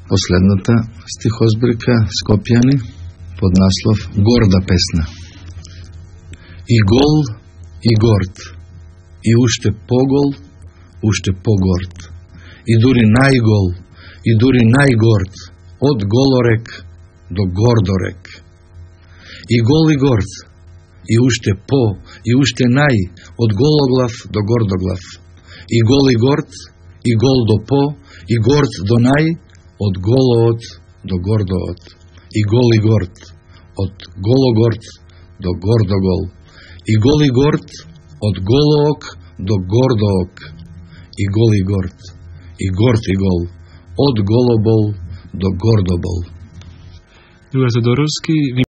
последната стихозбирка Скопјани под наслов Горда песна. И гол, и горд, и уште погол, уште погорд, и дури најгол, и дури најгорд, од голорек до гордорек. И гол и горд, и уште по, и уште нај, од гологлав до гордоглав. И гол и горд, и гол до по, и горд до нај, од голоот до гордоот. И гол и горд, од гологорд до гордогол. И гол и горд, од голоок до гордоок. И гол и горд, и горд и гол, од голобол до гордобол. Друга Тодоровски, ви